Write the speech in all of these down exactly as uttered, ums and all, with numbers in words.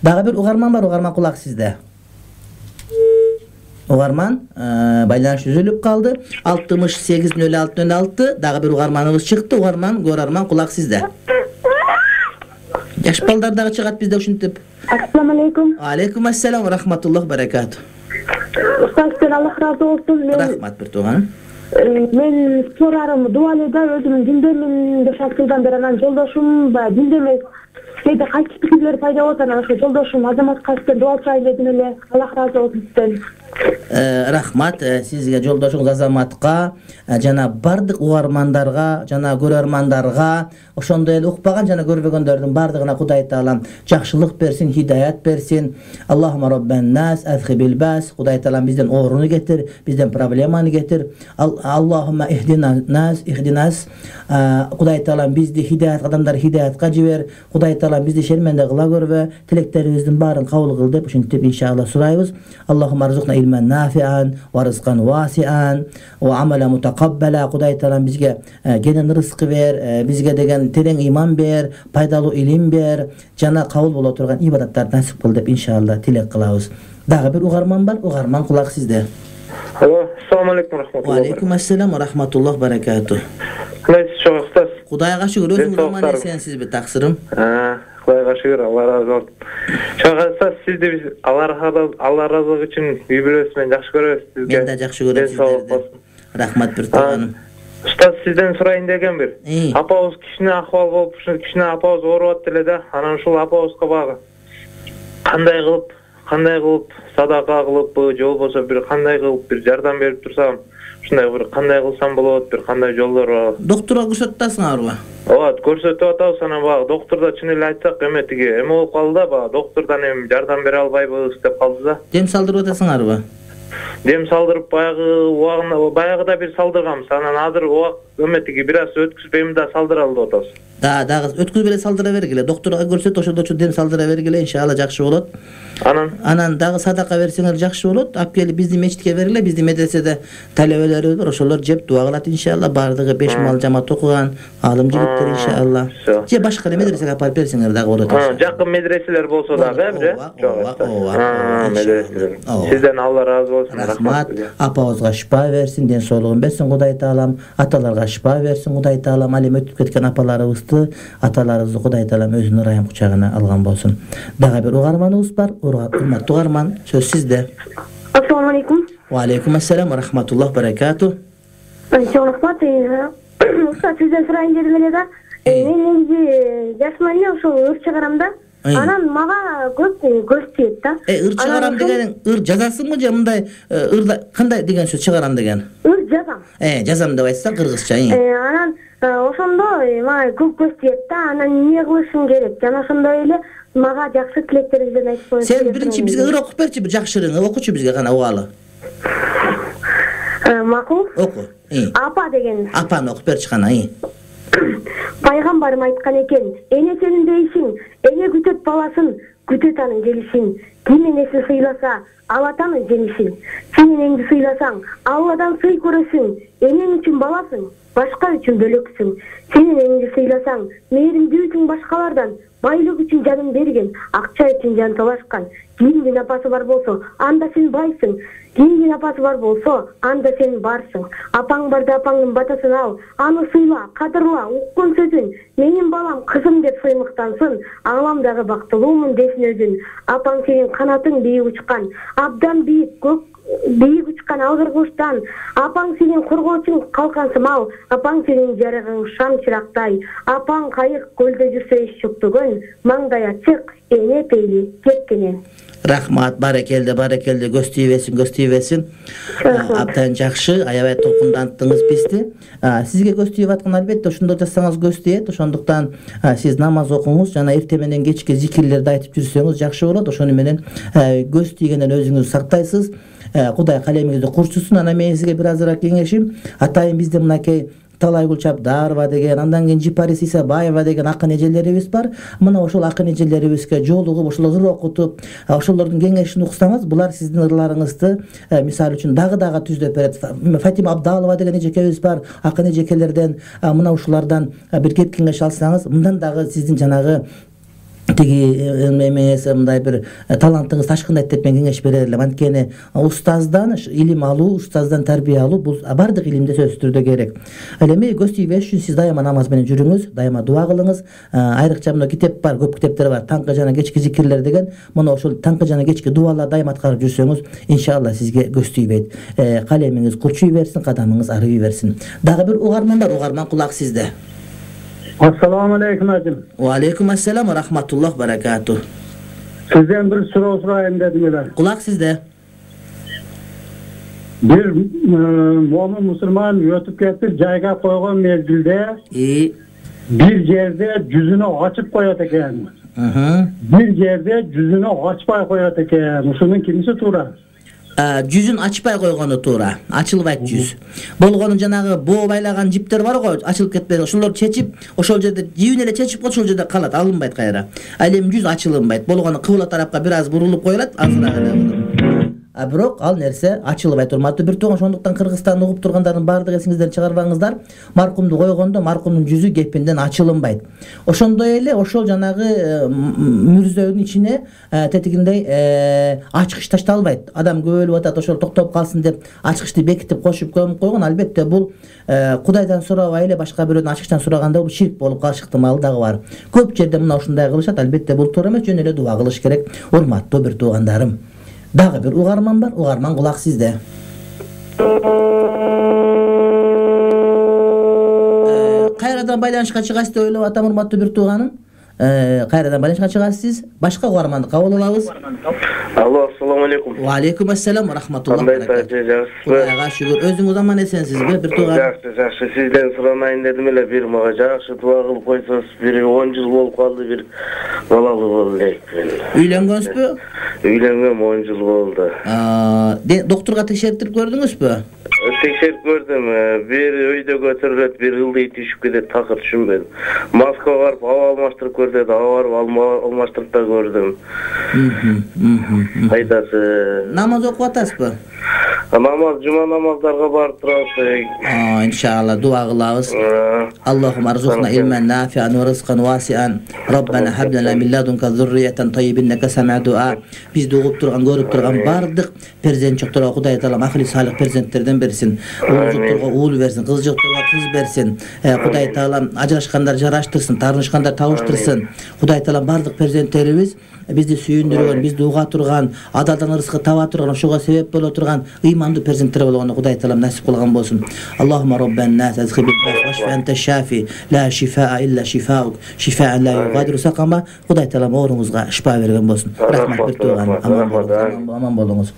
Дагы бир угарман бар, угарман кулак сизде. Угарман байланыш үзүлүп калды. алтымыш сегиз нөл алты нөл алты дагы бир угарманыбыз чыкты. Угарман, көрөрман кулак сизде. Жаш балдар дагы чыгат бизде ушинтип. Ассаламу алейкум. Алейкум ассалам ва рахматуллах баракату. Устаздан Аллах разы болсун. Рахмат бир тууганым. Мен сурарым дуалыда өзүм диндемин беш алты жылдан бери, анан жолдошум баягы диндемес. Кейде кайсы пикирлер пайда болот, анан ошо жолдошум Азаматка сизден дуа сурайын дедим эле. Аллах разы болсун сизден. Рахмат сизге, жолдошуңуз Азаматка жана бардык угармандарга жана көрөрмандарга, ошондой эле укпаган жана көрбөгөндөрдүн бардыгына Кудай Таалам жакшылык берсин, хидаят берсин. Аллахума роббан нас азхибил бас. Кудай Таалам бизден ооруну кетир, бизден проблеманы кетир. Аллахума ихдина нас, ихдинас. Кудай Таалам бизди хидаят, адамдар хидаятка жибер. Кудай Таалам бизди шерменде кыла көрбө. Тилектерибиздин баарын кабыл кыл деп ушинтип иншалла сурайбыз. Аллахума арзукна илман нафиан ва рызкан васиан ва амала мутакаббала. Кудай Таалам бизге кенен рызкы бер, бизге деген терең иман бер, пайдалуу илим бер, жана кабыл боло турган ибадаттарды насип кыл деп иншалла тилек кылабыз. Дагы бир угарман бар, угарман кулак сизде. Алло, ассаламу алейкум рахматуллах. Ва алейкум ассалам ва рахматуллах баракату. Кайсы чоң устаз? Кудайга шүгүр, өзүңүз аман эсенсизби, таксырым? А, Кудайга шүгүр, Алла разы болсун. Чоң устаз, сизди биз Алла разылыгы үчүн үй-бүлөсү менен жакшы көрөбүз сизге. Мен да жакшы көрөм сиздерди. Рахмат бир тууганым. Устаз, сизден сурайын деген бир. Апабыз кичине акыбал болуп, ушул кичине апабыз ооруп эле да, анан ушул апабызга багы кандай кылып, кандай кылып садака кылып, же болбосо бир кандай кылып бир жардам берип турсам, ушундай бир кандай кылсам болот, бир кандай жолдор бар. Доктурга көрсөтүп атасыңарбы? Ооба, көрсөтүп атабыз, анан баягы доктурда чын эле айтсак, эме тиги эме болуп калды да, баягы доктурдан эми жардам бере албайбыз деп калды да. Дем салдырып атасыңарбы? Дем салдырып баягы убагында баягыда бир салдырганбыз, анан азыр убак эме тиги бир аз өткүзүп эми да салдыра алып атабыз. Да, дагы өткүзүп эле салдыра бергиле. Доктурга көрсөт, ошондочу дем салдыра бергиле, иншалла жакшы болот. Анан анан дагы садака берсеңер жакшы болот. Алып келип биздин мечитке бергиле. Биздин медреседе талебелерибиз бар, ошолор жеп дуа кылат иншалла. Бардыгы беш мал жамаат окуган алым жигиттер иншалла. Же башка эле медресеге апарып берсеңер дагы болот. Жакын медреселер болсо дагы, э? Ооба, ооба. Медреселер. Сизден Алла разы болсун. Рахмат. Апабызга шифа берсин, ден соолугун берсин Кудай Таалам. Аталарга шифа берсин Кудай Таалам. Ал эми өтүп кеткен апаларыбызды, аталарыбызды Кудай Таалам өзүнүн ырайым кучагына алган болсун. Дагы бир угарманыбыз бар. Урматтуу угарман, сөз сизде. Ассаламу алейкум. Ва алейкум ассалам ва рахматуллах баракату. Чоң рахмат. Устаз, сизден сурайын дедим эле да. Мен негизи жашман эле ошол ыр чыгарам да. Анан мага көп көз тиет да. Э, ыр чыгарам деген ыр жазасыңбы же мындай ырда кандай деген сөз чыгарам деген? Ыр жазам. Э, жазам деп айтсаң кыргызча. Э, анан ошондо мага көп көз тиет да. Анан эмне кылышым керек? Жана ошондой эле мага жакшы тилектериңизден айтып коюңуз. Сен биринчи бизге ыр окуп берчи, бир жакшы ырыңы окучу бизге кана угалы. Макул. Оку. Апа деген. Апаны окуп берчи кана. Пайгамбарым айткан экен, эне сенин дейсиң, эне күтөт баласын, күтөт анын келишин. Ким энесин сыйласа, ал атанын жемишин. Сен энеңди сыйласаң, Алладан сый көрөсүң. Энең үчүн баласың, башка үчүн бөлөксүң. Сен энеңди сыйласаң, мээримдүүсүң башкалардан. Байлык үчүн жанын берген, акча үчүн жан талашкан. Кийиндин апасы бар болсо, анда сен байсың. Кийиндин апасы бар болсо, анда сен барсың. Апаң барда апаңдын батасын ал, аны сыйла, кадырла, уккан сөзүн. Менин балам кызым деп сыймыктансын, аңламдагы бактылуумун десин өзүн. Апаң сенин канатың бийик учкан, абдан бийик көк бийик учкан алгыр куштан. Апаң сенин коргоочуң калкансым ал, апаң сенин жарыгың шам чырактай. Апаң кайык көлдө жүрсө эч чөктөгөн, маңдай ачык, эне пейли кеткенен. Рахмат, барекелде, барекелде, көз тийбесин, көз тийбесин. Абдан жакшы, аябай толкундантыңыз бизди. Сизге көз тийип аткан албетте ошондо жассаңыз көз тийет. Ошондуктан сиз намаз окуңуз жана эртең менен кечке зикирлерди айтып жүрсөңүз жакшы болот. Ошону менен көз тийгенден өзүңүздү сактайсыз. Кудай калемиңизди курчусун. Анан мен сизге бир азыраак кеңешим, атайын бизде мынакей Талай Гүлчабдарова деген, андан кийин Жипарис Исабаева деген акын эжелерибиз бар. Мына ошол акын эжелерибизге жолугуп, ошол ыр окутуп, ошолордун кеңешин уксаңыз, булар сиздин ырларыңызды мисалы үчүн дагы дагы түздөп берет. Фатима Абдалова деген эжекебиз бар, акын эжекелерден. Мына ушулардан бир кеп кеңеш алсаңыз, мындан дагы сиздин жанагы тиги эмеси мындай бир талантыңыз ташкындайт деп мен кеңеш берер элем. Анткени устаздан илим алуу, устаздан тарбия алуу бул бардык илимде сөзсүз түрдө керек. Ал эми көз тийбеш үчүн сиз дайыма намаз менен жүрүңүз, дайыма дуа кылыңыз. Айрыкча мына китеп бар, көп китептер бар. Таңкы жана кечки зикирлер деген. Мына ошол таңкы жана кечки дуалар дайыма аткарып жүрсөңүз, иншалла сизге көз тийбейт. Калемиңиз курчуй берсин, кадамыңыз арый берсин. Дагы бир угарман бар, угарман кулак сизде. Assalamu alaikum ajim. Wa alaikum assalam wa rahmatullah barakatuh. Sizden bir soru sorayım dedim öyle. Kulak sizde. Bir mo'min musulman ötüp ketip jayga koygan mezgilde İyi. bir yerde yüzünü açıp koyat eken. Hı. Bir yerde yüzünü açpay koyat eken. Şunun kimisi tuğra? Жүзүн ачпай койгону туура, ачылбайт жүз. Болгону жанагы боо байлаган жиптер бар го, ачылып кетпей, ошолорду чечип, ошол жерде жибин эле чечип ошол жерде калат, алынбайт кайра. Ал эми жүз ачылынбайт. Болгону кыбла тарапка бир аз бурулуп коюлат, азыраак эле. А бирок ал нерсе ачылбайт. Урматтуу бир тууган, ошондуктан Кыргызстанды угуп тургандардын баардыгы эсиңизден чыгарбаңыздар. Маркумду койгондо маркумдун жүзү кепинден ачылынбайт. Ошондой эле ошол жанагы мүрзөнүн ичине тетигиндей ачкыч ташталбайт. Адам көбөлүп атат, ошол токтоп калсын деп ачкычты бекитип кошуп көмүп койгон. Албетте бул Кудайдан сурабай эле башка бирөөнүн ачкычтан сураганда бул ширк болуп калыш ыктымалы дагы бар. Көп жерде мына ушундай кылышат. Албетте бул туура эмес, жөн эле дуа кылыш керек. Урматтуу бир туугандарым. Дагы бир угарман бар, угарман кулак сизде. Кайрадан байланышка чыгасыз деп ойлоп атам, урматтуу бир тууганым. Кайрадан байланышка чыгасыз. Башка угарманды кабыл алабыз. Алло, ассаламу алейкум. Ва алейкум ассалам ва рахматуллах. Кандай саатчы жакшысызбы? Кудайга шүгүр. Өзүңүз аман эсенсизби, бир тууган? Жакшы, жакшы. Сизден суранайын дедим эле, бир мага жакшы дуа кылып койсоңуз, бир он жыл болуп калды, бир балалуу болду элек. Үйлөнгөнсүзбү? Үйлөнгөм он жыл болду. Доктурга текшертирип көрдүңүзбү? Текшерип көрдүм. Бир өйдө көтөрүлөт, бир ылдый түшүп кетет, такыр түшүнбөдүм. Москвага барып аба алмаштырып көр деди, аба барып алмаштырып да көрдүм. Кайдасы? Намаз окуп атасызбы? Намаз, жума намаздарга барып турабыз. А, иншалла дуа кылабыз. Аллахумма арзукна илман нафиан ва ризкан васиан. Раббана хаб лана мин ладунка зурриятан таййибин иннека сами'у дуа. Бизди угуп турган, көрүп турган бардык перзент чокторго Кудай таалам акылы салих перзенттерден берсин. Уул жокторго уул берсин, кыз жокторго кыз берсин. Кудай таалам ажырашкандар жараштырсын, таарынышкандар табыштырсын. Кудай таалам бардык перзенттерибиз бизди сүйүндүргөн, бизди уга турган, адалдан рызкы таба турган, ошого себеп боло турган ыймандуу перзенттер болгону Кудай таалам насип кылган болсун. Аллахумма роббан нас азхибил баш ва анта шафи ла шифаа илля шифаук шифаан ла югадиру сакама. Кудай таалам ооруңузга шифа берген болсун. Рахмат бир тууган, аман болуңуз, аман болуңуз.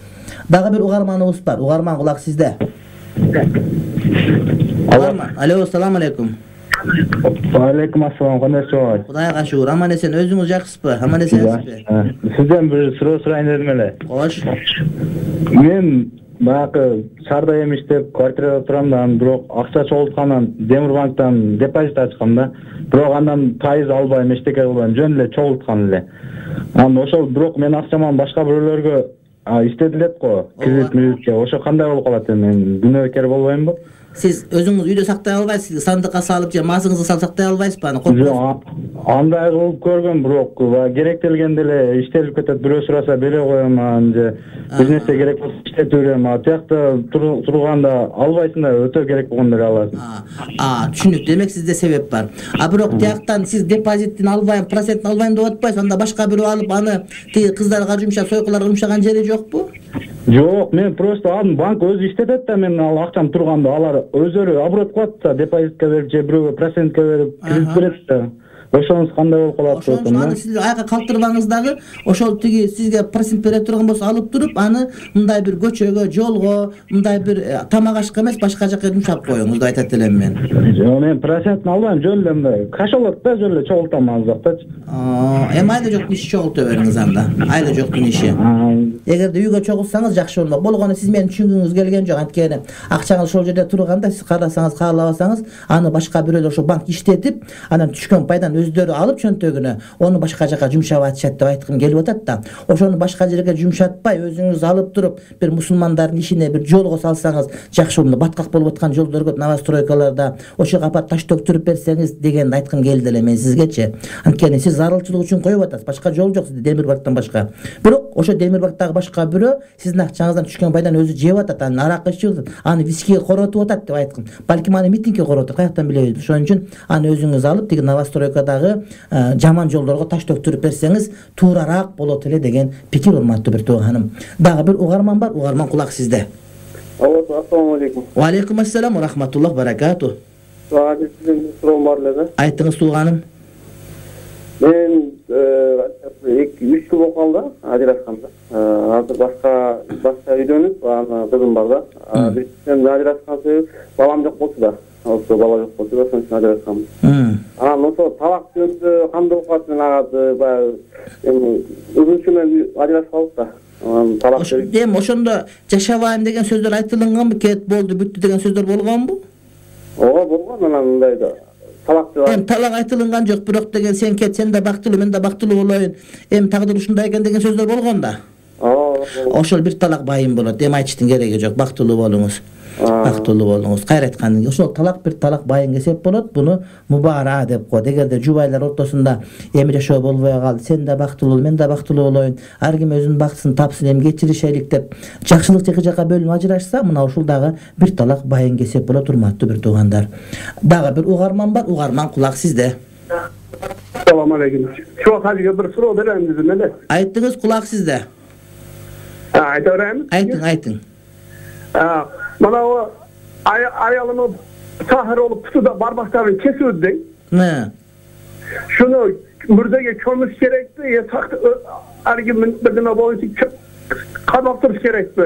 Дагы бир угарманыбыз бар. Угарман кулак сизде. Угарман. Алло, ассаламу алейкум. Ва алейкум ассалам, кандайсыз? Кудайга шүгүр, аман эсен. Өзүңүз жакшысызбы? Аман эсенсизби? Сизден бир суроо сурайын дедим эле. Кош. Мен баягы Сарда эмиштеп квартирада турам да, бирок акча чогулткандан Демирбанктан депозит ачкам да. Бирок андан пайыз албайм, эчтеке кылбайм, жөн эле чогулткан эле. Анда ошол бирок мен акчаман башка бирөөлөргө истетилет го, кредит мүлүккө. Ошо кандай болуп калат эми? Күнөөкөр болбоймбу? Сиз өзүңүз үйдө сактай албайсыз, сандыкка салып же масыңызды салып сактай албайсызбы аны? Жок, андай кылып көргөм, бирок керектелгенде эле иштелип кетет. Бирөө сураса бере коем, же бир нерсе керек болсо иштетип берем. А тиякта турганда албайсың да, өтө керек болгондо эле аласың. А, түшүнүктүү. Демек сизде себеп бар. А бирок тияктан сиз депозиттин албайм, процентин албайм деп атпайсыз, анда башка бирөө алып аны тиги кыздарга жумшап, сойкуларга жумшаган жери жокпу? Жок, мен просто алдым, банк өзү иштетет да, мен ал акчам турганда алар өздөрү оборот кылат да, депозитке берип же бирөөгө процентке берип кредит берет да. ошонуз кандай болуп калат ошон үчүн аны сиз аяка калтырбаңыз дагы. Ошол тиги сизге процент бере турган болсо алып туруп, аны мындай бир көчөгө, жолго, мындай бир тамак ашка эмес, башка жака жумшап коюңуз деп айтат элем мен. Жок, мен процентин албайм, жөн эле мындай кашалат да, жөн эле чогултам аздактачы. Эми айла жоктун иши чогулта бериңиз анда. Айла жоктун иши. Эгерде үйгө чогулсаңыз жакшы болмок. Болгону сиз мени түшүнгүңүз келген жок. Анткени акчаңыз ошол жерде турганда сиз карасаңыз, каалабасаңыз, аны башка бирөөлөр ошо банк иштетип, анан түшкөн пайданы өздөрү алып чөнтөгүнө, ону башка жака жумшап атышат деп айткым келип атат да. Ошону башка жерге жумшатпай, өзүңүз алып туруп, бир мусулмандардын ишине бир жолго салсаңыз жакшы болот. Баткак болуп аткан жолдор көп новостройкаларда, ошого апарып таш төктүрүп берсеңиз дегенди айткым келди эле мен сизгечи. Анткени сиз зарылчылык үчүн коюп атасыз, башка жол жок сизде Демирбактан башка. Бирок ошо Демирбактагы башка бирөө сиздин акчаңыздан түшкөн пайданы өзү жеп атат, аны арак ичип атат, аны вискиге коротуп атат деп айткым. Балким аны митингге коротуп, каяктан билебиз. Ошон үчүн аны өзүңүз алып, тиги новостройкадагы жаман жолдорго таш төктүрүп берсеңиз туурарак болот эле деген пикир, урматтуу бир тууганым. Дагы бир угарман бар, угарман кулак сизде. Алло, ассаламу алейкум. Ва алейкум ассалам ва рахматуллах баракату. Сага сизден суроом бар эле. Айтыңыз тууганым. Мен эки үч жыл болуп калды ажырашканда. Азыр башка башка үйдөнүп, аны кызым бар да. Бизден ажырашкан себеби балам жок болчу да. Ошо бала жок болчу да, ошон үчүн ажырашканбыз. Анан ошо талак жөнүндө кандай болуп калат, мен ага баягы эми өзүнчө менен ажырашып калдык да. Талак берип. Эми ошондо жашабайм деген сөздөр айтылганбы, кет болду, бүттү деген сөздөр болгонбу? Ооба, болгон. Анан мындай да талак деп. Эми талак айтылган жок, бирок деген сен кет, сен да бактылуу, мен да бактылуу болоюн. Эми тагдыр ушундай экен деген сөздөр болгон да. Ооба. Ошол бир талак байым болот. Эми айтыштын кереги жок, бактылуу болуңуз. Бактылуу болуңуз. Кайра айткан, ошол талак бир талак байын кесеп болот. Буну мубара деп коет. Эгерде жубайлар ортосунда эми жашоо болбой калды, сен да бактылуу, мен да бактылуу болоюн, ар ким өзүнүн бактысын тапсын, эми кечиришелик деп жакшылык эки жака бөлүнүп ажырашса, мына ушул дагы бир талак байын кесеп болот, урматтуу бир туугандар. Дагы бир угарман бар, угарман кулак сизде. Ассаламу алейкум. Чоң хажыга бир суроо берем дедим эле. Айттыңыз, кулак сизде. Айта берем. Айтың, айтың. Мына о аялымы сахар болуп кутуда бармактарын кесип дейм. Ne? Şunu mürdege kömüş gerekti ya saklı argüman birine boyunca kanaptırış gerekti.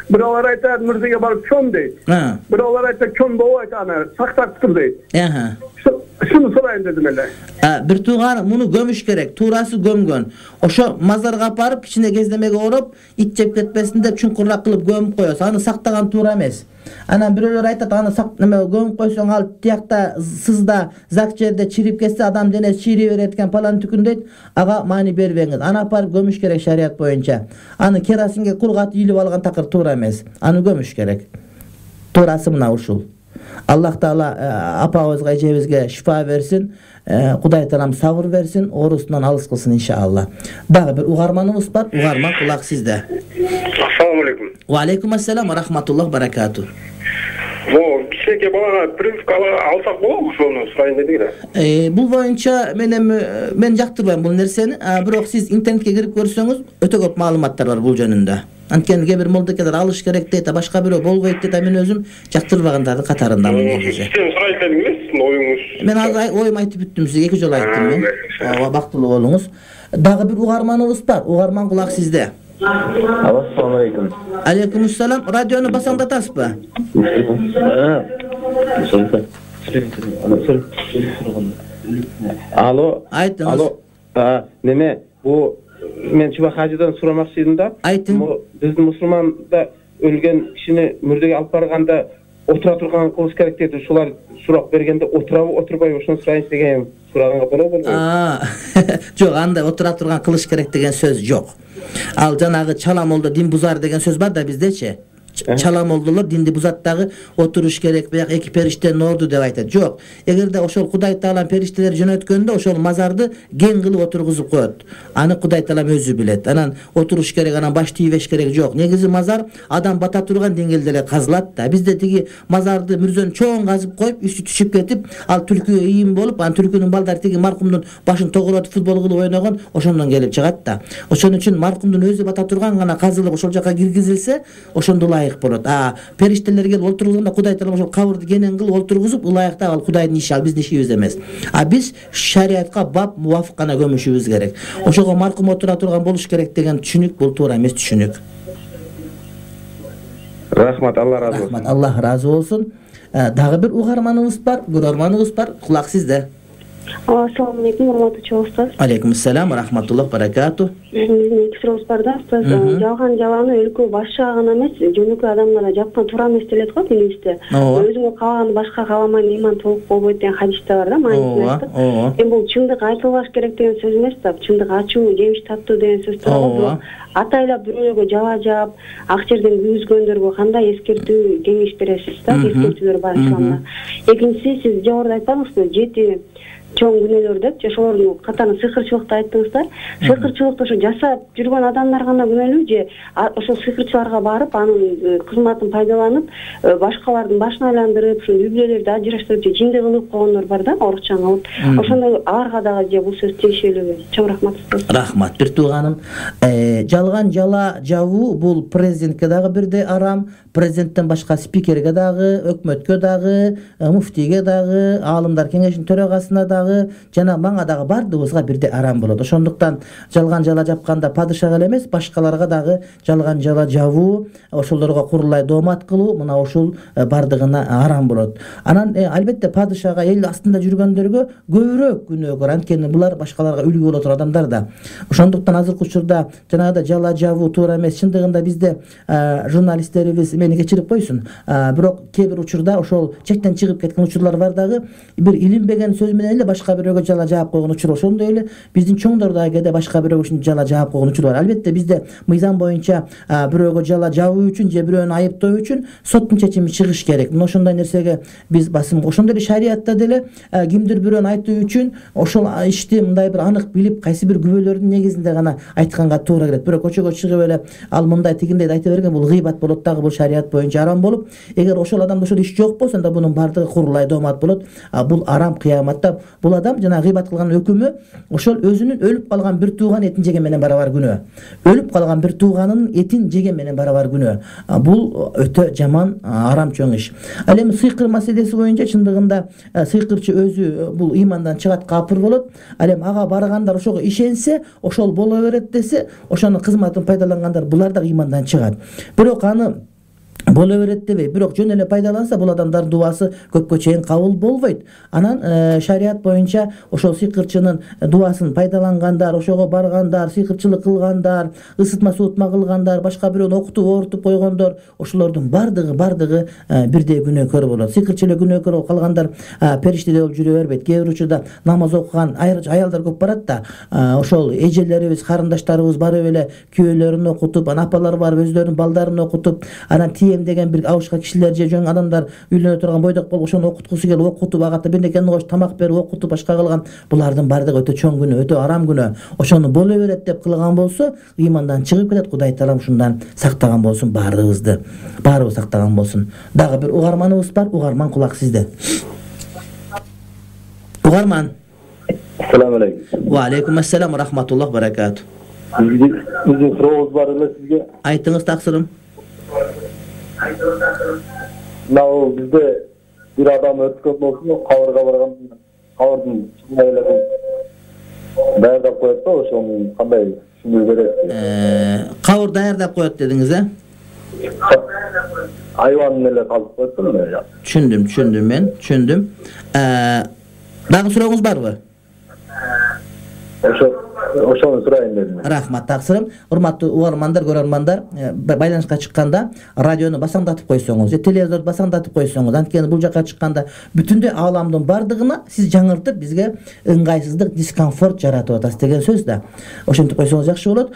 Buralar aytar mürdege barıp köm deydi. Buralar aytar köm boğu aytar saktar tutur deydi. Aha. Şunu sorayım dedim hele. Bir tuğanı bunu gömüş gerek. Tuğrası gömgön. Oşo mazarga aparıp içine gezlemege orup it jep ketmesin dep çunkурrak kılıp gömüp koyuyorsa. Anı saktagan tuğra emez. Ana biröler aytat anı sak neme gömüp koysan al tiyakta sızda zak jerde çirip kesse adam denesi çiri veretken palan tükün deyt. Aga mani berbeňiz. Ana aparıp gömüş gerek şariat boyunca. Anı kerasinge kulgat yilip algan takır tuğra emez. Anı gömüş gerek. Tuğrası mına uşul. Allah Taala apabızga ejebizge şifa versin. Kuday Taalam sabır versin. Orusundan alыс kılsın inşallah. Dagı bir ugarmanımız var. Ugarman kulak sizde. Assalamu alaikum. Wa alaikum assalam wa rahmatullah barakatuh. Bu kişiye bana prinskalı alsak bolar mı şunu sorayım dedik de. E, bu boyunca menem men jaktırbayım bu nerseni. Birok siz internetke girip görürsöňüz öte köp malumatlar var bu jönündө. Antkeni kebir moldakeler alış gerek deyt, başka biri bolboyt deyt, men özüm jaktırbagandardyň katarındamyn negisi. Siz sorayım dediniz, oyunuz. Men azay oyum aytıp büttüm sizge, iki jol ayttım men. Aba baktılуу bolуңуз. Dagı bir ugarmanybız bar. Ugarman kulak sizde. Assalamu alaikum. Aleykümselam. Radyonu basaňdatasızbı? Alo. Aytыңыз. Alo. Neme bu men Çuba Hacı'dan soramakçı idim da. Aytın. Bizdin musulmanda ölgen kişini mürdege alıp barganda otura turgan kılıç gerek deydi. Şular surak bergende oturabı oturbay oşun surayın degen suraganga bola bolbo. Aa. Jok, anda otura turgan kılıç gerek degen söz jok. Al janagı çalam oldu din buzar degen söz var da bizdeçi. Çalam oldular dindi buzattagı oturuş gerek veya iki perişte nordu dep aytat. Jok. Egerde oşol Kuday Taalam perişteler jönötkönde oşol mazardı gen kılıp oturguzup koyot. Anı Kuday Taalam özü bilet. Anan oturuş gerek, anan baş тийбеш gerek jok. Negizi mazar adam bata turgan dengelde kazılat da. Bizde tigi mazardı mürzön çoğun kazıp koyup üstü düşüp ketip al türküye iyim bolup an türkünün baldar tigi markumdun başın togulatıp futbol kılıp oynagan oşondan gelip çıgat da. Oşon üçün markumdun özü bata turgan gana kazılıp oşol jaka kirgizilse oşondula ылайык болот. А периштелер келип олтурганда Кудай таала ошол кабырды кенен кылып олтургузуп ылайыкта ал Кудайдын иши, ал биздин ишибиз эмес. А биз шариатка бап мувафык гана көмүшүбүз керек. Ошого маркум отура турган болуш керек деген түшүнүк бул туура эмес түшүнүк. Рахмат, Алла разы болсун. Рахмат, Аллах разы болсун. Дагы бир угарманыбыз бар, көрөрманыбыз бар. Кулак сизде. Ассаламу алейкум, урматтуу устаз. Алейкум ассалам, рахматуллах, баракату. Биздин эки суроо бар да, устаз. Жалган жаланы өлкө башчыга гана эмес, жөнөкөй адамдарга жапкан туура эмес делет го динибизде. Өзүңө каалаганды башка кааламайын, иман толук болбойт деген хадисте бар да, маанисинде. Эми бул чындык айтылбаш керек деген сөз эмес да, чындык ачуу, жемиш таттуу деген сөз турат. Атайлап бирөөгө жала жаап, ак жерден күйгүзгөндөргө кандай эскертүү кеңеш бересиз да, эскертүүлөр бар исламда. Экинчиси, сиз жогоруда айтпадыңызбы, жети чоң күнөөлөр деп, ошолордун катарына сыйкырчылыкты айттыңыздар. Сыйкырчылыкты ошо жасап жүргөн адамдар гана күнөөлүү же ошол сыйкырчыларга барып, анын кызматын пайдаланып, башкалардын башын айландырып, ушул үй-бүлөлөрдү ажыраштырып же жинди кылып койгондор бар да, орусча кылып. Ошондой аларга дагы же бул сөз тиешелүүбү? Чоң рахмат. Рахмат, бир тууганым. Жалган жала жабуу бул президентке дагы бирдей арам, президенттен башка спикерге дагы, өкмөткө дагы, муфтийге дагы, аалымдар кеңешинин төрагасына дагы, жана мага дагы бардыгыбызга бирдей арам болот. Ошондуктан жалган жала жапканда падышага эле эмес, башкаларга дагы жалган жала жабуу, ошолорго курулай доомат кылуу, мына ушул бардыгына арам болот. Анан албетте падышага эл астында жүргөндөргө көбүрөөк күнөө бар, анткени булар башкаларга үлгү боло турган адамдар да. Ошондуктан азыркы учурда жанагыдай жала жабуу туура эмес. Чындыгында бизде журналисттерибиз мени кечирип койсун, бирок кээ бир учурда ошол чектен чыгып кеткен учурлар бар дагы, бир илинбеген сөз менен эле башка бирөөгө жала жаап койгон учур. Ошондой эле биздин чоңдор дагы кээде башка бирөөгө ушинтип жала жаап койгон учур бар. Албетте бизде мыйзам боюнча бирөөгө жала жабуу үчүн же бирөөнү айыптоо үчүн соттун чечими чыгыш керек. Мына ошондой нерсеге биз басым. Ошондой эле шариатта деле кимдир бирөөнү айтуу үчүн ошол ишти мындай бир анык билип, кайсы бир күбөлөрдүн негизинде гана айтканга туура келет. Бирок көчөгө чыгып эле ал мындай тигиндей айта берген бул гыйбат болот дагы, бул шариат боюнча арам болуп, эгер ошол адамда ошол иш жок болсо анда бунун баардыгы курулай доомат болот. Бул арам кыяматта. Бул адам жана гыйбат кылган өкүмү ошол өзүнүн өлүп калган бир тууган этин жеген менен барабар күнөө. Өлүп калган бир тууганын этин жеген менен барабар күнөө. Бул өтө жаман, арам чоң иш. Ал эми сыйкыр маселеси боюнча чындыгында сыйкырчы өзү бул ыймандан чыгат, капыр болот. Ал эми ага баргандар ошого ишенсе, ошол боло берет десе, ошонун кызматын пайдалангандар булар да ыймандан чыгат. Бирок аны боло берет дебей, бирок жөн эле пайдаланса, бул адамдардын дуасы көпкө чейин кабыл болбойт. Анан шариат боюнча ошол сыйкырчынын дуасын пайдалангандар, ошого баргандар, сыйкырчылык кылгандар, ысытма суутма кылгандар, башка бирөөнү окутуп оорутуп койгондор, ошолордун бардыгы бардыгы бирдей күнөөкөр болот. Сыйкырчы эле күнөөкөр болуп калгандар периштедей болуп жүрө бербейт. Кээ бир учурда намаз окуган аялдар көп барат да, ошол эжелерибиз, карындаштарыбыз барып эле күйөөлөрүн окутуп, анан апалар барып өздөрүнүн балдарын окутуп, анан деген бир абышка кишилер же жөн адамдар үйлөнө турган бойдок болуп ошону окуткусу келип окутуп, агата бирнекени коюп тамак берип окутуп, башка кылган, булардын бардыгы өтө чоң күнөө, өтө арам күнөө. Ошону боло берет деп кылган болсо, ыймандан чыгып кетет. Кудай таалам ушундан сактаган болсун баарыбызды. Баарыбыз сактаган болсун. Дагы бир угарманыбыз бар. Угарман, кулак сизде. Угарман. Ассаламу алейкум. Ва алейкум ассалам, рахматуллах, баракату. Биздин сурообуз бар эле сизге. Айтыңыз, таксырым. Мына бизде бир адам өткөн болсо, кабырга барган, кабырдын чыңайлыгын даярдап коет да, ошону кандай түшүнүү берет? Кабыр даярдап коет дедиңиз, э? Айванын эле казып коет да. Түшүндүм, түшүндүм мен, түшүндүм. Дагы сурооңуз барбы? Ошо ошону сурайын дедим. Рахмат, таксырым. Урматтуу угармандар, көрөрмандар, байланышка чыкканда радиону басаңдатып койсоңуз, же телевизорду басаңдатып койсоңуз, анткени бул жака чыкканда бүтүндөй ааламдын бардыгына сиз жаңыртып бизге ыңгайсыздык, дискомфорт жаратып атасыз деген сөз да. Ошентип койсоңуз жакшы болот.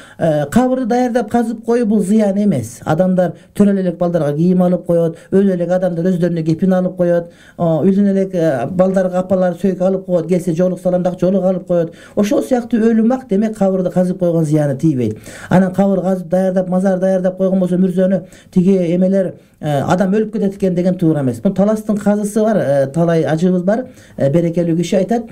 Кабырды даярдап казып коюу бул зыян эмес. Адамдар төрөлө элек балдарга кийим алып коет, өлө элек адамдар өздөрүнө кепин алып коет, үйдөн элек балдарга апалар сөйк алып коет, келсе жоолук саламдак жоолук алып коет. Ошол сыяктуу өлүм ак, демек кабырды казып койгон зыяны тийбейт. Анан кабыр казып даярдап, мазар даярдап койгон болсо мүрзөнү тиги эмелер адам өлүп кетет экен деген туура эмес. Бул таластын казысы бар, талай ажыбыз бар. Берекелүү киши айтат,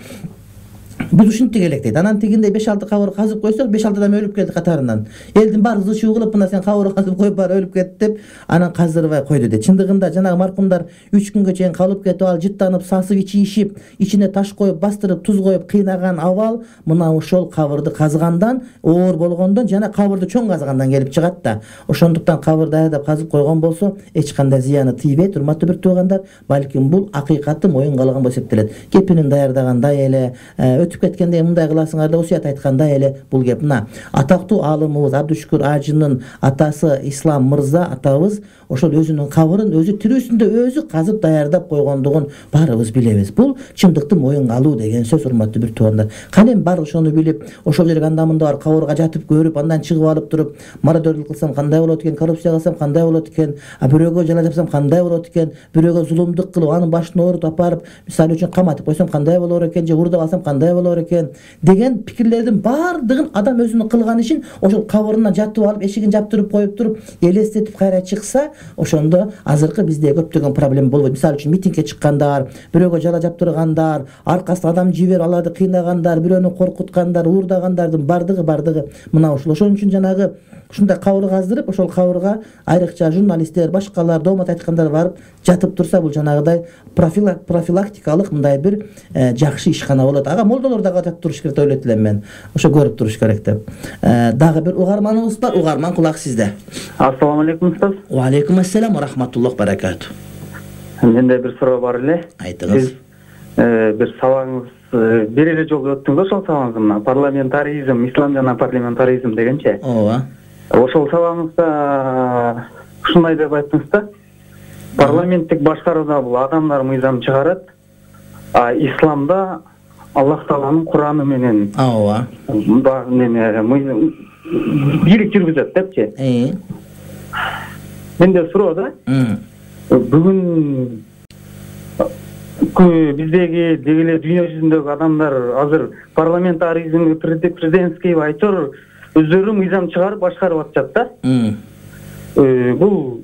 Биз ушинтип элек дейт. Анан тигиндей беш алты кабыр казып койсок, беш алты адам өлүп кетти катарынан. Элдин баары зычуу кылып, мына сен кабыр казып коюп баары өлүп кетти деп, анан каздырбай койду дейт. Чындыгында жанагы маркумдар үч күнгө чейин калып кетип, ал жыттанып, сасып, ичи ишип, ичине таш коюп, бастырып, туз коюп кыйнаган абал мына ошол кабырды казгандан, оор болгондон жана кабырды чоң казгандан келип чыгат да. Ошондуктан кабыр даярдап казып койгон болсо, эч кандай зыяны тийбейт, урматтуу бир туугандар. Балким бул акыйкатты моюнга алган болуп эсептелет. Кепинин даярдагандай эле, өтүп кеткенде мындай кыласыңар деп осуят айткандай эле бул кеп. Мына атактуу аалымыбыз Абдушукур Ажынын атасы Ислам мырза атабыз ошол өзүнүн кабырын өзү тирүүсүндө өзү казып даярдап койгондугун баарыбыз билебиз. Бул чындыкты моюнга алуу деген сөз, урматтуу бир туугандар. Кане эми баары ошону билип, ошол жерге анда мында бар кабырга жатып көрүп, андан чыгып алып туруп, мародёрлук кылсам кандай болот экен, коррупция кылсам кандай болот экен, бирөөгө жала жапсам кандай болот экен, бирөөгө зулумдук кылып, анын башын оорутуп апарып, мисалы үчүн каматып койсом кандай болор экен, же уурдап алсам кандай болор экен деген пикирлердин баардыгын адам өзүнүн кылган ишин ошол кабырына жатып алып, эшигин жаптырып коюп туруп, элестетип кайра чыкса, ошондо азыркы бизде көптөгөн проблема болбойт. Мисалы үчүн митингге чыккандар, бирөөгө жала жаптыргандар, аркасына адам жиберип аларды кыйнагандар, бирөөнү коркуткандар, уурдагандардын бардыгы бардыгы мына ушул. Ошон үчүн жанагы ушундай кабыр каздырып, ошол кабырга айрыкча журналисттер, башкалар, доомат айткандар барып жатып турса, бул жанагыдай профилактикалык мындай бир жакшы ишкана болот. Ага молдолор дагы жатып туруш керек деп ойлойт элем мен. Ошо көрүп туруш керек деп. Дагы бир угарманыбыз бар. Угарман, кулак сизде. Ассаламу алейкум устаз. Ва алейкум ассалам ва рахматуллах баракату. Менде бир суроо бар эле. Айтыңыз. Бир сабагыңыз бир эле жолу өттүңүз, ошол сабагыңыз мына парламентаризм, ислам жана парламентаризм дегенче. Ооба. Ошол сабагыңызда ушундай деп айттыңыз да. Парламенттик башкарууда бул адамдар мыйзам чыгарат, а исламда Аллах Тааланын Кураны менен ооба. Неме бийлик жүргүзөт депчи. Э. Менде суроо да. Бүгүн биздеги деги эле дүйнө жүзүндөгү адамдар азыр парламентаризмди президентский айтор өздөрү мыйзам чыгарып башкарып атышат да. Бул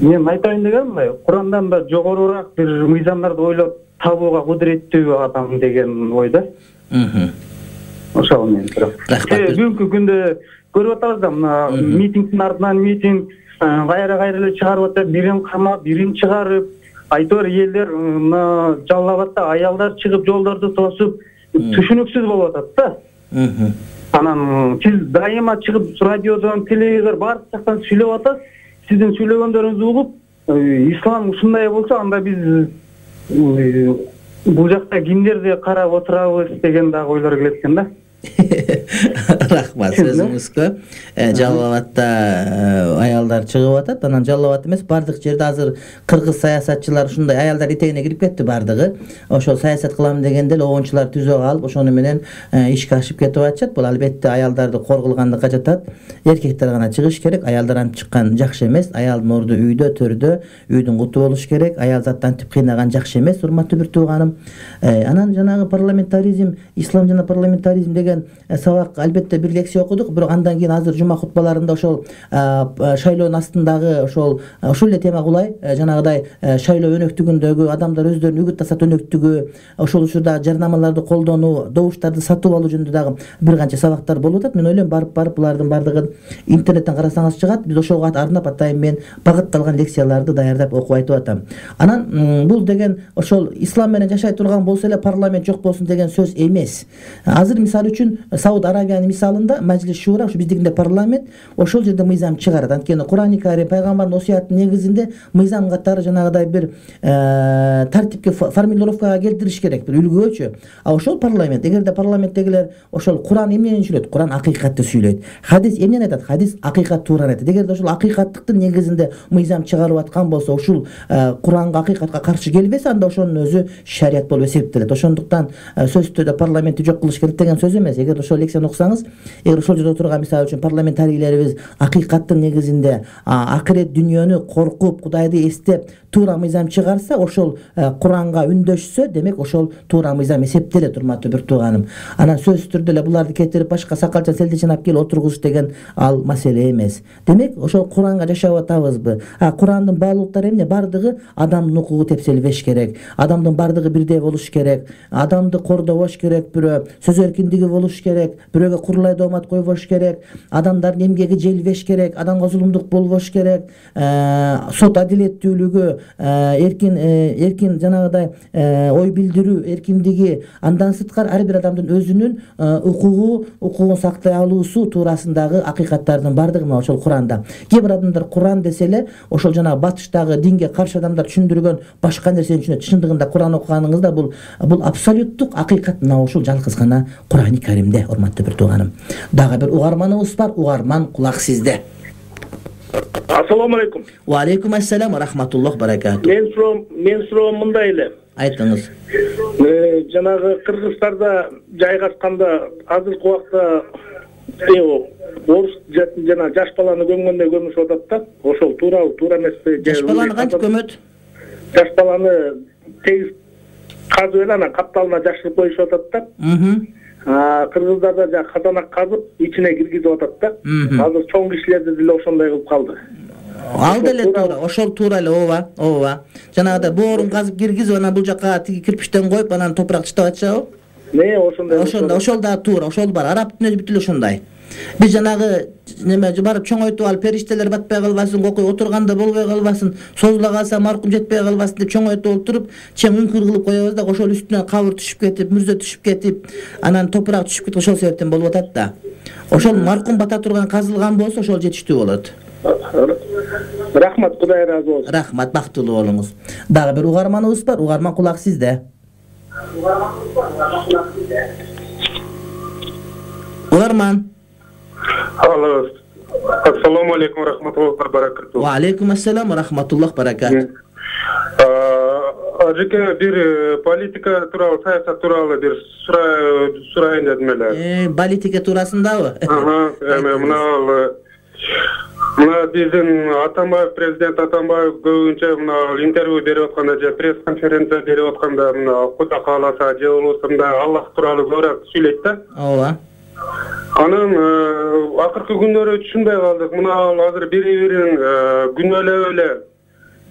мен айтайын дегеним мындай, Курандан да жогорураак бир мыйзамдарды ойлоп табууга кудуреттүү адам деген ойда. Ошол мен сурап. Бүгүнкү күндө көрүп атабыз да, мына митингдин артынан митинг, кайра кайра эле чыгарып атат, бирин камап, бирин чыгарып, айтор элдер мына жаллап атат, аялдар чыгып жолдорду тосуп, түшүнүксүз болуп атат да. Анан сиз дайыма чыгып радиодон, телевизор баардык жактан сүйлөп атасыз. Сиздин сүйлөгөндөрүңүздү угуп, ислам ушундай болсо, анда биз бул жакта кимдерди карап отурабыз деген дагы ойлор келет экен да. Рахмат сөзүңүзгө. Жалал Абадта аялдар чыгып атат, анан Жалал Абад эмес, бардык жерде азыр кыргыз саясатчылар ушундай аялдар итегине кирип кетти бардыгы. Ошол саясат кылам дегенде эле обончулар түзө калып, ошону менен ишке ашып кетип атышат. Бул албетте аялдарды кор кылгандыкка жатат. Эркектер гана чыгыш керек, аялдар антип чыккан жакшы эмес. Аялдын орду үйдө, төрдө, үйдүн куту болуш керек. Аял затты антип кыйнаган жакшы эмес, урматтуу бир тууганым. Анан жанагы парламентаризм, ислам жана парламентаризм деген сабак албетте бир лекция окудук, бирок андан кийин азыр жума хутбаларында ошол шайлоонун астындагы ошол ушул эле тема кулай, жанагыдай шайлоо өнөктүгүндөгү адамдар өздөрүнүн үгүт тасат өнөктүгү, ошол учурда жарнамаларды колдонуу, добуштарды сатып алуу жөнүндө дагы бир канча сабактар болуп атат. Мен ойлойм, барып барып булардын бардыгын интернеттен карасаңыз чыгат. Биз ошого арнап атайын мен багытталган лекцияларды даярдап окуп айтып атам. Анан бул деген ошол ислам менен жашай турган болсо эле парламент жок болсун деген сөз эмес. Азыр мисалы үчүн Сауд Арабиянын мисалында Majlis Shura, ушу биздикинде парламент, ошол жерде мыйзам чыгарат. Анткени Курани Карим, пайгамбардын осуятынын негизинде мыйзам катары жанагыдай бир тартипке, формулировкага келтириш керек, бир үлгүчө. А ошол парламент, эгерде парламенттегилер ошол Куран эмнени сүйлөйт? Куран акыйкатты сүйлөйт. Хадис эмнени айтат? Хадис акыйкат туураны айтат. Эгерде ошол акыйкаттыктын негизинде мыйзам чыгарып аткан болсо, ушул Куранга, акыйкатка каршы келбесе, анда ошонун өзү шарият болуп эсептелет. Ошондуктан сөзсүз түрдө парламентти жок кылыш керек деген сөз эмес. эмес. Эгер ошол лекцияны окусаңыз, эгер ошол жерде отурган мисалы үчүн парламентарийлерибиз акыйкаттын негизинде акырет дүнүйөнү коркуп, Кудайды эстеп туура мыйзам чыгарса, ошол Куранга үндөшсө, демек ошол туура мыйзам эсептелет, урматтуу бир тууганым. Анан сөзсүз түрдө эле буларды кетирип башка сакалча селдеченап келип отургузуш деген ал маселе эмес. Демек ошол Куранга жашап атабызбы? А Курандын баалуулуктары эмне? Бардыгы адамдын укугу тепселбеш керек. Адамдын бардыгы бирдей болуш керек. Адамды кордобош керек бирөө. Сөз эркиндиги болуш керек. Бирөөгө курулай доомат койбош керек. Адамдардын эмгеги желбеш керек. Адамга зулумдук болбош керек. Сот адилеттүүлүгү, эркин эркин жанагыдай ой билдирүү эркиндиги, андан сырткары ар бир адамдын өзүнүн укугу, укугун сактай алуусу туурасындагы акыйкаттардын бардыгы мына ошол Куранда. Кээ бир адамдар Куран десе эле ошол жана батыштагы динге каршы адамдар түшүндүргөн башка нерсени түшүнөт. Чындыгында Куран окуганыңызда бул бул абсолюттук акыйкат мына ушул жалгыз гана Курани Каримде, урматтуу бир тууганым. Дагы бир угарманыбыз бар. Угарман, кулак сизде. Ассаламу алейкум. Ва алейкум ассалам ва рахматуллах баракату. Мен суроом, мен суроом мындай эле. Айтыңыз. Жанагы Кыргызстанда жайгашканда азыркы убакта орус жана жаш баланы көмгөндө көмүшүп атат да. Ошол туурабы, туура эмеспи? Жаш баланы кантип көмөт? Жаш баланы тегиз казып эле анан капталына жашырып коюшуп атат да. Кыргыздарда жа казанак казып ичине киргизип атат да. Азыр чоң кишилерди деле ошондой кылып калды. Ал деле туура, ошол туура эле, ооба, ооба. Жанагыдай боорун казып киргизип, анан бул жака тиги кирпичтен коюп, анан топурак чытап атышабы? Не, ошондой. Ошондой, ошол да туура, ошол бар. Араб дүйнөсү бүт эле ошондой. Биз жанагы неме барып чоңойтуп алып, периштелер батпай калбасын, окуй отурганда болбой калбасын, созула калса маркум жетпей калбасын деп чоңойтуп олтуруп, чең үңкүр кылып коебуз да, ошол үстүнөн кабыр түшүп кетип, мүрзө түшүп кетип, анан топурак түшүп кетип, ошол себептен болуп атат да. Ошол маркум бата турган казылган болсо, ошол жетиштүү болот. Рахмат, Кудай ыраазы болсун. Рахмат, бактылуу болуңуз. Дагы бир угарманыбыз бар. Угарман, кулак сизде. Угарман. Алло. Ассаламу алейкум рахматуллахи ва баракатуху. Ва алейкум ассалам ва рахматуллахи баракатуху. Ажеке бир политика тууралуу, саясат тууралуу бир сурайын дедим эле. Э, политика туурасындабы? Ага, эми мына мына биздин Атамбаев, президент Атамбаев көбүнчө мына интервью берип атканда же пресс-конференция берип атканда мына Кудай кааласа же болбосо Аллах тууралуу көбүрөөк сүйлөйт да. Ооба. Анан акыркы күндөрү түшүнбөй калдык. Мына азыр бири-бирин күнөөлөп эле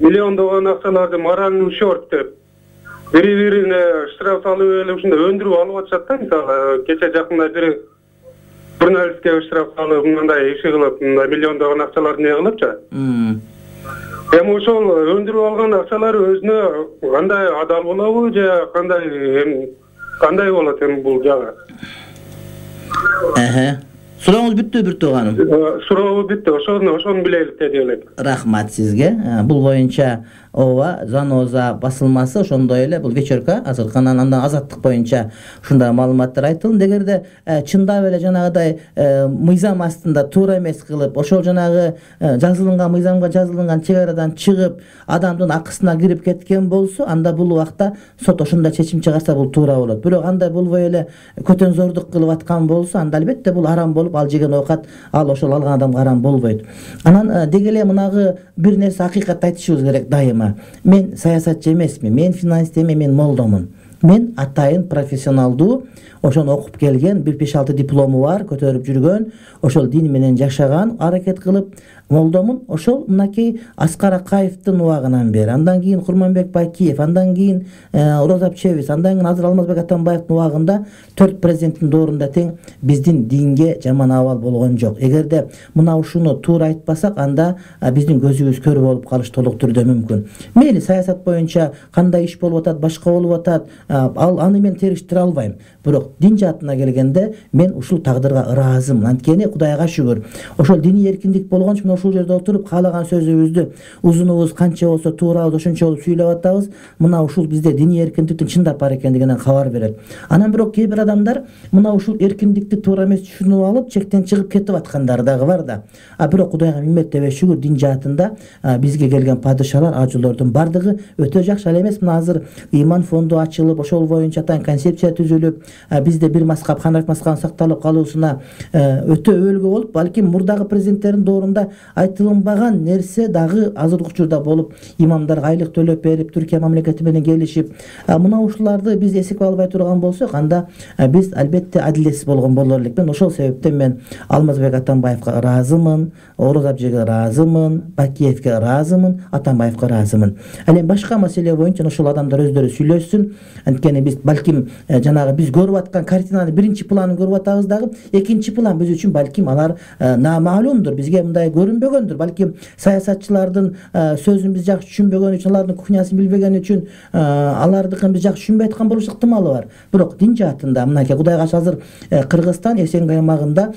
миллиондогон акчаларды моральный ущерб деп бири-бирине штраф салып эле ушундай өндүрүп алып атышат да. Мисалы кече жакында бир журналистке штраф салып мындай иши кылып, мындай миллиондогон акчаларды не кылыпчы. Эми ошол өндүрүп алган акчалар өзүнө кандай адал болобу же кандай кандай болот эми бул жагы? Эhe. Сурооңуз бүттү бир тууганым? Суроо бүттү. Ошону ошону билелик деп элек. Рахмат сизге. Бул боюнча ооба, Заноза басылмасы ошондой эле бул вечерка азыркы андан азаттык боюнча ушундай маалыматтар айтылды. Эгерде чындап эле жанагыдай мыйзам астында туура эмес кылып, ошол жанагы жазылган мыйзамга жазылган чек арадан чыгып, адамдын акысына кирип кеткен болсо, анда бул убакта сот ошондой чечим чыгарса бул туура болот. Бирок андай болбой эле көтөнзордук кылып аткан болсо, анда албетте бул арам болуп, ал жеген оокат ал ошол алган адамга арам болбойт. Анан деги эле мынагы бир нерсе акыйкатты айтышыбыз керек дайыма. Мен саясатчы эмесмин, мен финансист эме, мен молдомун. Мен атайын профессионалдуу, ошону окуп келген, бир беш алты диплому бар, көтөрүп жүргөн, ошол дин менен жашаган, аракет кылып молдомун. Ошол мынакей Аскар Акаевдин убагынан бери, андан кийин Курманбек Байкиев, андан кийин Роза Чебис, андан кийин азыр Алмазбек Атамбаевдин убагында төрт президенттин доорунда тең биздин динге жаман абал болгон жок. Эгерде мына ушуну туура айтпасак, анда биздин көзүбүз көрүү болуп калыш толук түрдө мүмкүн. Мейли саясат боюнча кандай иш болуп атат, башка болуп атат, ал аны мен териштире албайм. Бирок дин жаатына келгенде мен ушул тагдырга ыраазымын. Анткени Кудайга шүгүр, ошол диний эркиндик болгон үчүн ушул жерде отуруп каалаган сөзүбүздү узунубуз канча болсо туурабыз ошончо болуп сүйлөп атабыз. Мына ушул бизде диний эркиндиктин чындап бар экендигинен кабар берет. Анан бирок кээ бир адамдар мына ушул эркиндикти туура эмес түшүнүп алып чектен чыгып кетип аткандар дагы бар да. А бирок Кудайга миннет деп шүгүр, дин жаатында бизге келген падышалар, ажылордун бардыгы өтө жакшы. Ал эмес мына азыр иман фонду ачылып, ошол боюнча атайын концепция түзүлүп, бизде бир маскап, Ханафи маскабын сакталып калуусуна өтө өбөлгө болуп, балким мурдагы президенттердин доорунда айтылынбаган нерсе дагы азыркы учурда болуп, имамдарга айлык төлөп берип, Түркия мамлекети менен келишип, мына ушуларды биз эсепке албай турган болсок, анда биз албетте адилетсиз болгон болор элекпен. Ошол себептен мен Алмазбек Атамбаевга ыраазымын, Орозо Абжеге ыраазымын, Бакиевге ыраазымын, Атамбаевга ыраазымын. Ал эми башка маселе боюнча ошол адамдар өздөрү сүйлөшсүн. Анткени биз балким жанагы биз көрүп аткан картинанын биринчи планын көрүп атабыз дагы, экинчи план биз үчүн балким алар намаалумдур, бизге мындай көрүнбөгөндүр. Балким саясатчылардын сөзүн биз жакшы түшүнбөгөн үчүн, алардын кухнясын билбеген үчүн алардыкын биз жакшы түшүнбөй аткан болуш ыктымалы бар. Бирок дин жаатында мынакей Кудайга азыр Кыргызстан Эсенгай аймагында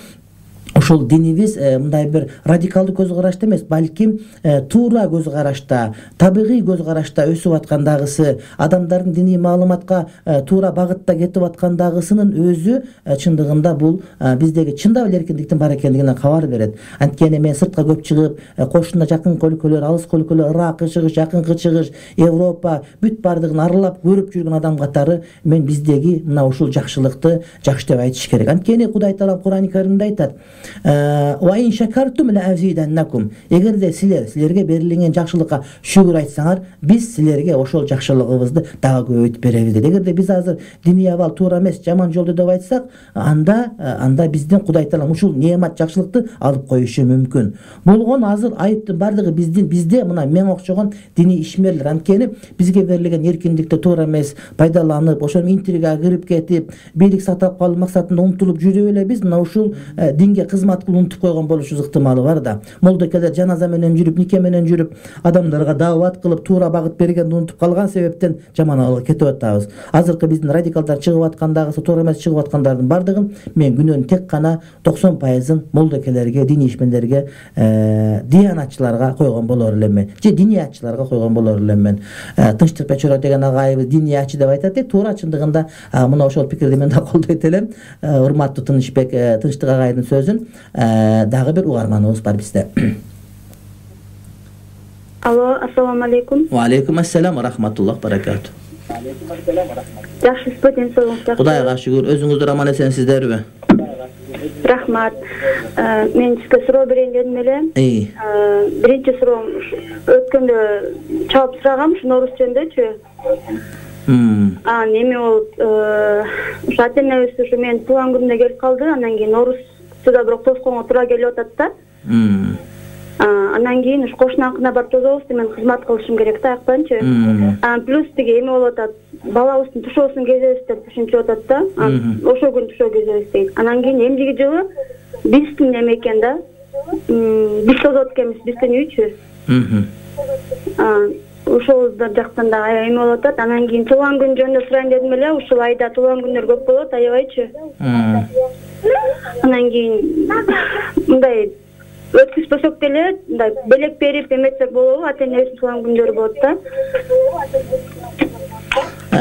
ошол динибиз мындай бир радикалдуу көз карашта эмес, балким туура көз карашта, табигый көз карашта өсүп аткандагысы, адамдардын диний маалыматка туура багытта кетип аткандагысынын өзү чындыгында бул биздеги чындап эле эркиндиктин бар экендигинен кабар берет. Анткени мен сыртка көп чыгып, кошуна жакынкы өлкөлөр, алыскы өлкөлөр, Иракы чыгыш, жакынкы чыгыш, Европа бүт бардыгын аралап көрүп жүргөн адам катары мен биздеги мына ушул жакшылыкты жакшы деп айтыш керек. Анткени Кудай Таала Кур'ан-ы Каримде айтат: "Ва ин шакартум ла азиданнакум." Эгерде силер силерге берилген жакшылыкка шүгүр айтсаңар, биз силерге ошол жакшылыгыбызды дагы көбөйтүп беребиз дейт. Эгерде биз азыр диний абал туура эмес, жаман жолдо деп айтсак, анда анда биздин Кудай Таала ушул неамат жакшылыкты алып коюшу мүмкүн. Болгон азыр айыптын бардыгы биздин бизде мына мен окшогон диний ишмерлер. Анткени бизге берилген эркиндикти туура эмес пайдаланып, ошол интригага кирип кетип, бийлик сактап калуу максатында умтулуп жүрүп эле биз мына ушул динге кызмат кылып унутуп койгон болушубуз ыктымалы бар да. Молдокелер жаназа менен жүрүп, нике менен жүрүп, адамдарга даават кылып, туура багыт бергенди унутуп калган себептен жаман абалга кетип атабыз. Азыркы биздин радикалдар чыгып аткандагысы, туура эмес чыгып аткандардын бардыгын мен күнөөнүн тек гана токсон пайызын молдокелерге, диний ишмерлерге, диянатчыларга койгон болор элемин, же диниятчыларга койгон болор элемин. Тынчтык Печора деген агайыбыз диниятчы деп айтат. Туура чындыгында мына ошол пикирди мен да колдойт элем. Урматтуу Тынычбек Тынчтык агайдын сөзүн дагы бир угарманыбыз бар бизде. Алло, ассаламу алейкум. Ва алейкум ассалам ва рахматуллах баракату. Жакшысызбы, ден соолугуңуз жакшыбы? Кудайга шүгүр. Өзүңүздөр аман эсенсиздерби? Рахмат. Мен сизге суроо берейин дедим эле. Биринчи суроом өткөндө чалып сурагам, ушу Нооруз жөнүндөчү. А неме болуп, ушу ата-энебиз ушу менин туулган күнүмдө келип калды, анан кийин Ноорузда бирок тосконго туура келип атат да. Анан кийин ушу кошунаныкына барып тособуз, мен кызмат кылышым керек да аяктанчы. Плюс тиги эме болуп атат, балабыздын тушоосун кезебиз деп түшүнчүп атат да. Ошол күн тушоо кезебиз дейт. Анан кийин эмдиги жылы биздин неме экен да. Биз тосот экенбиз, биздин үйчү. Ошол жактан да эме болуп атат. Анан кийин туулган күн жөнүндө сурайын дедим эле. Ушул айда туулган күндөр көп болот, аябайчы. Анан кийин мындай өткүзбөсөк деле, мындай белек берип эметсек болобу? Ата-энебиздин туулган күндөрү болот да.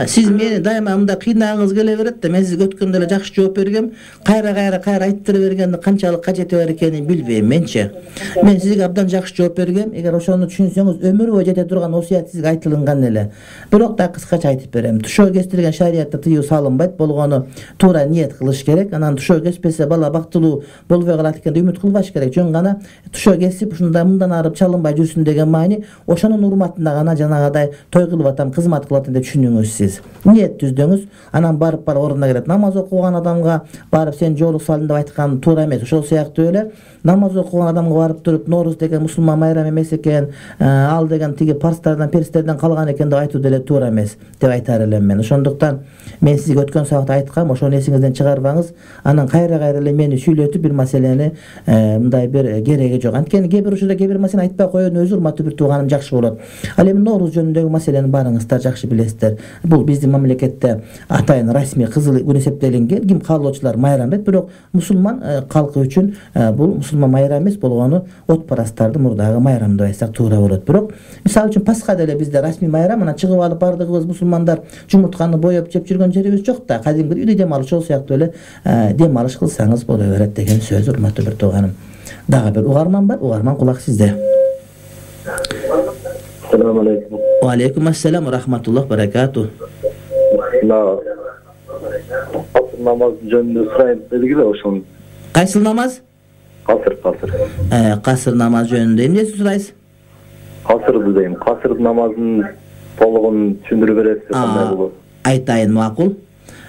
Сиз мени дайыма мындай кыйнагыңыз келе берет да, мен сизге өткөндө эле жакшы жооп бергем. Кайра-кайра кайра айттырып бергенди канчалык кажети бар экенин билбейм менчи. Мен сизге абдан жакшы жооп бергем. Эгер ошону түшүнсөңүз, өмүр бою жете турган осуят сизге айтылган эле. Бирок да кыскача айтып берем. Тушоо кестирген шариятта тыюу салынбайт, болгону туура ниет кылыш керек. Анан тушоо кеспесе бала бактылуу болбой калат экен деп үмүт кылбаш керек. Жөн гана тушоо кесип, ушундай мындан арып чалынбай жүрсүн деген маани, ошонун урматында гана жанагыдай той кылып атам, кызмат кылып атам деп түшүнүңүз сиз. Ниет түздүңүз, анан барып барып ордуна келет. Намаз окуган адамга барып сен жоолук салдың деп айткан туура эмес. Ошол сыяктуу эле намаз окуган адамга барып туруп Нооруз деген мусулман майрам эмес экен, ал деген тиги парстардан, перистерден калган экен деп айтуу деле туура эмес деп айтар элем мен. Ошондуктан мен сизге өткөн сабакта айткам, ошону эсиңизден чыгарбаңыз. Анан кайра-кайра эле мени сүйлөтүп бир маселени мындай бир кереги жок. Анткени кээ бир учурда кээ бир маселени айтпай коюудун өзү урматтуу бир тууганым жакшы болот. Ал эми Нооруз жөнүндөгү маселени баарыңыздар жакшы билесиздер. Бул биздин мамлекетте атайын расмий кызыл күн эсептелинген. Ким каалоочулар майрам дейт, бирок мусулман калкы үчүн бул мусулман майрам эмес болгону отпарастарды мурдагы майрам деп айтсак туура болот. Бирок мисалы үчүн Пасха деле бизде расмий майрам, анан чыгып алып бардыгыбыз мусулмандар жумуртканы боеп жеп жүргөн жерибиз жок да. Кадимки үйдө дем алыш ошол сыяктуу эле дем алыш кылсаңыз боло берет деген сөз, урматтуу бир тууганым. Дагы бир угарман бар, угарман кулак сизде. Assalamu alaikum. Wa alaikum assalam wa rahmatullah barakatuh. Asr namaz жөнүндө сурайын дедик эле ошону. Кайсыл намаз? Касыр, касыр. Э, касыр намаз жөнүндө эмне сурайсыз? Касырды дейм. Касыр намазын толугун түшүндүрүп бересиз, кандай болот? Айтайын, макул.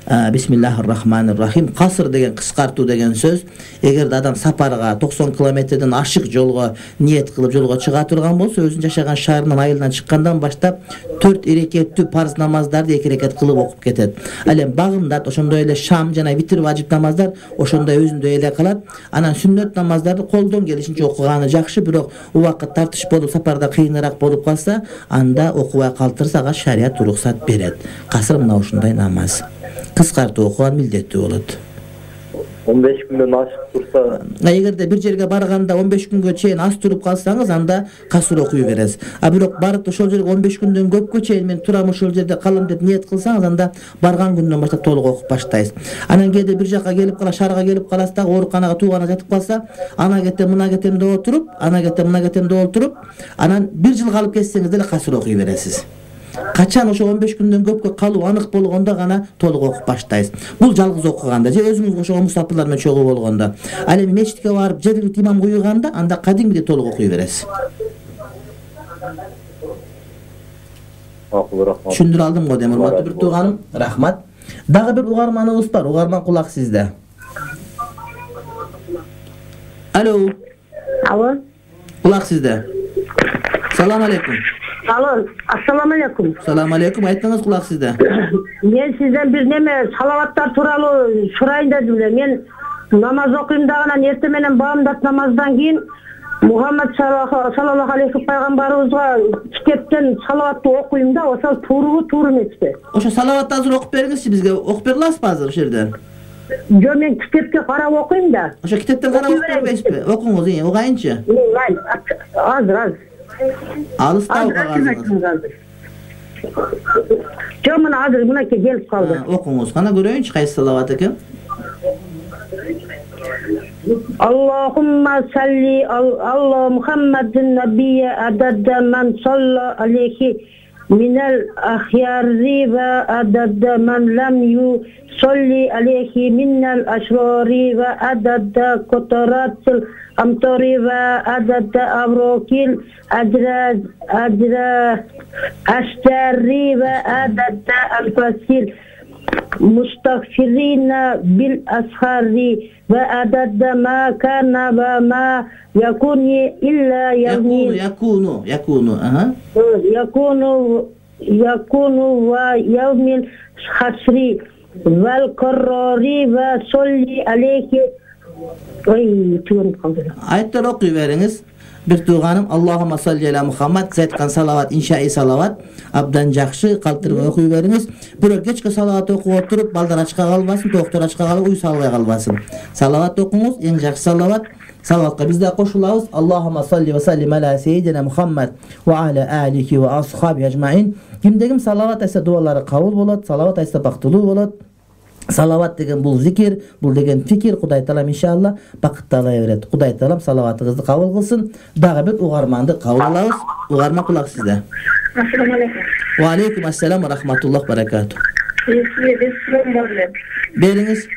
Бисмиллахир-рахманир-рахим. Касыр деген кыскартуу деген сөз. Эгерде адам сапарга токсон километрден ашык жолго ниет кылып жолго чыга турган болсо, өзүнүн жашаган шаарынан айылынан чыккандан баштап төрт эрекеттүү парз намаздарды эки эрекет кылып окуп кетет. Ал эми багымдат, ошондой эле шам жана витр важип намаздар ошондой өзүндөй эле кылат. Анан сүннөт намаздарды колдон келишинче окуганы жакшы, бирок убакыт тартыш болуп, сапарда кыйыныраак болуп калса, анда окубай калтырса ага шарият уруксат берет. Касыр мына ушундай намаз. Кыскартуу окуган милдеттүү болот. он беш күндөн ашык турса, эгерде бир жерге барганда он беш күнгө чейин аз туруп калсаңыз, анда касыр окуй бересиз. А бирок барып ошол жерге он беш күндөн көпкө чейин мен турам ошол жерде калам деп ниет кылсаңыз, анда барган күндөн баштап толук окуп баштайсыз. Анан кээде бир жакка келип кала, шаарга келип каласыз дагы, ооруканага туугана жатып калса, ана кетем, мына кетем деп отуруп, ана кетем, мына кетем деп отуруп, анан бир жыл калып кетсеңиз деле касыр окуй бересиз. Качан ошо он беш күндөн көпкө калуу анык болгондо гана толук окуп баштайсыз. Бул жалгыз окуганда же өзүңүз ошо мусафирлар менен чогуу болгондо. Ал эми мечитке барып жергиликтүү имам куйганда, анда кадимгидей толук окуй бересиз. Түшүндүрө алдым го дейм, урматтуу бир тууганым. Рахмат. Дагы бир угарманыбыз бар. Угарман кулак сизде. Алло. Алло. Кулак сизде. Салам алейкум. Алло, ассаламу алейкум. Салам алейкум, айтыңыз, кулак сизде. Мен сизден бир неме салаваттар тууралуу сурайын дедим эле. Мен намаз окуйм дагы, эртең менен баамдат намаздан кийин Мухаммад саллаллаху алейхи пайгамбарыбызга китептен салаватты окуйм да, ошол туурубу, туура эмеспи? Ошо салаватты азыр окуп бериңизчи бизге. Окуп бере аласызбы азыр ошол жерде? Жо, мен китепке карап окуйм да. Ошо китептен карап окуп бербейсизби? Окуңуз, угайынчы. Азыр, азыр. Алыстабы кагазыңыз? Жо, мына азыр мынакей келип калды. Окуңуз, кана көрөйүнчү кайсы салават экен. Аллахумма салли алла Мухаммадин набия ададда ман салла алейхи минал ахьяри ва ададда ман лам ю салли алейхи минал ашрари ва ададда котаратил амтори ва ададда аврокил адраз адра аштари ва ададда анфасил мустагфирина бил асхари ва ададда ма кана ва ма якуни илля явни якуну якуну ага якуну якуну ва явмил хасри вал каррари ва солли алейхи. Ой, түгөнүп калды. Айттар окуй бериңиз. Бир тууганым, Аллахумма салли аля Мухаммад, сиз айткан салават иншаи салават абдан жакшы, калтырып окуй бериңиз. Бирок кечке салават окуп отуруп, балдар ачка калбасын, токтор ачка калып, уй салбай калбасын. Салават окуңуз, эң жакшы салават. Салаватка биз да кошулабыз. Аллахумма салли ва саллим аля сейидина Мухаммад ва аля алихи ва асхаби ажмаин. Кимдегим салават айтса дуалары кабыл болот, салават айтса бактылуу болот. Салават деген бул зикир, бул деген фикир. Кудай таалам иншалла бакытты ала берет. Кудай таалам салаватыңызды кабыл кылсын. Дагы бир угарманды кабыл алабыз. Угарман кулак сизде. Ассаламу алейкум. Ва алейкум ассалам ва рахматуллах баракату. Бериңиз.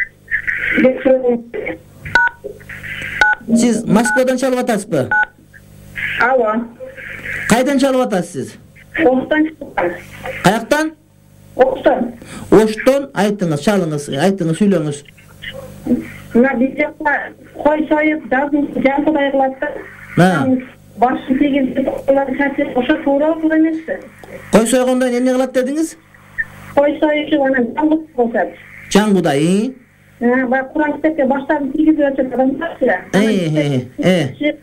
Сиз Москвадан чалып атасызбы? Алло. Кайдан чалып атасыз? Оштан чалып. Каяктан? Оштан. Оштон, айтыңыз, чалыңыз, айтыңыз, сүйлөңүз. Мына биз жакта кой союп, жазын жантыдай кылат да. Башын тийгизип, ошо туура туура эмеспи? Кой сойгондон эмне кылат дедиңиз? Кой союучу анан жангудай болсот. Жангудай? Баягы Куран китепке баштарын тийгизип өтөт адамдар. Э, э.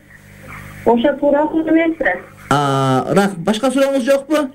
Ошо туура туура эмеспи? А, рах, башка сурооңуз жокпу?